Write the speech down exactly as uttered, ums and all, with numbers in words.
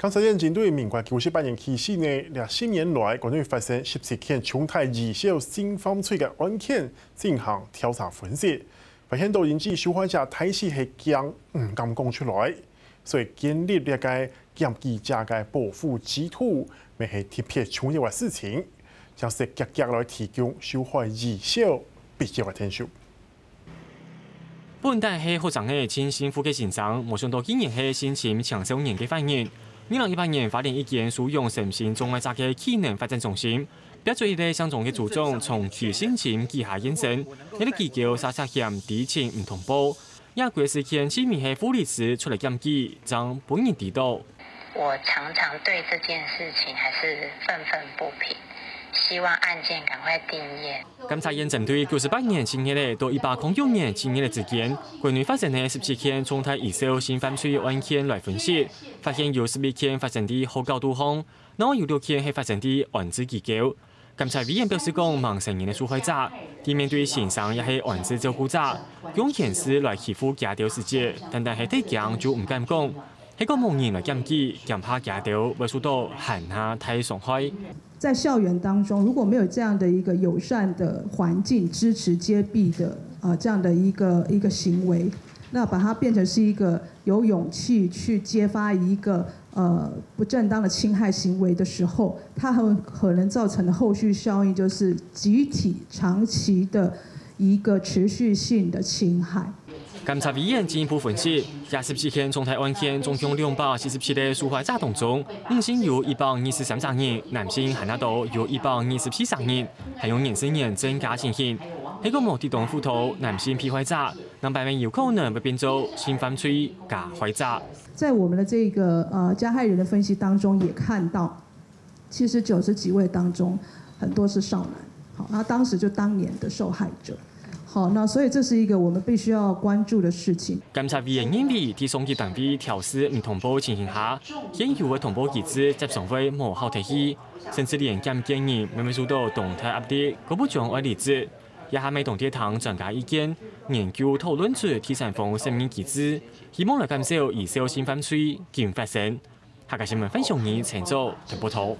監察院針對民國九十八年起始呢，這十年來，國內發生十七件重大醫療性犯罪个案件進行調查分析，發現到因為受害者大體係驚毋敢講出來，所以建立這个檢舉者个保護制度，乜係特別重要个事情，正係積極來提供受害醫療必要个程序。 本旦係學生仔盡辛苦个先生，無想到竟然係性侵青少年个犯人。二零一八年，花蓮一間收容身心障礙者个技能發展中心，逼出一个姓張个組長長期性侵幾下現身，這个機構煞煞嫌知情毋通報，也歸事件盡尾係護理師出來檢舉，正分人知道。 我常常對這件事情還是憤憤不平，希望案件趕快定讞。監察院針對九十八年七月仔到一百空九年七月仔之間，國內發生个十七件重大醫療性犯罪案件來分析，發現有十一件發生在學校肚項，另外有六件係發生在安置機構。 監察委員表示講，吂成年个受害者，在面對先生也係安置照顧者，用言辭來欺負佢兜時節，單單係得驚就毋敢講，係講無人來檢舉，驚怕佢兜會受到還較大傷害。在校園當中，如果沒有這樣的一個友善的環境、支持揭弊的呃這樣的一個一個行為，那把它變成是一個有勇氣去揭發一個呃不正當的侵害行為的時候，它很可能造成的後續效應就是集體長期的一個持續性的侵害。 監察委員進一步分析，這十七件重大案件總共兩百四十七个受害者當中，女性有一百二十三隻人，男性還較多有一百二十四隻人，還有年歲年增加情形。係講無得當輔導，男性被害者，兩百名有可能會變做性犯罪加害者。在我們的這個呃加害人的分析當中也看到，其實九十幾位當中很多是少男，好，那當時就當年的受害者。 好，那所以這是一個我們必須要關注的事情。監察委員認為，在上級單位調試毋通報情形下，現有个通報機制輒常會無效忒去，甚至連檢舉人乜會受到當大壓力，過不將愛離職。這下乜當在聽專家意見，研究討論出第三方承認機制，希望來減少醫療性犯罪緊發生。客家新聞范雄仁、陳昭台北報導。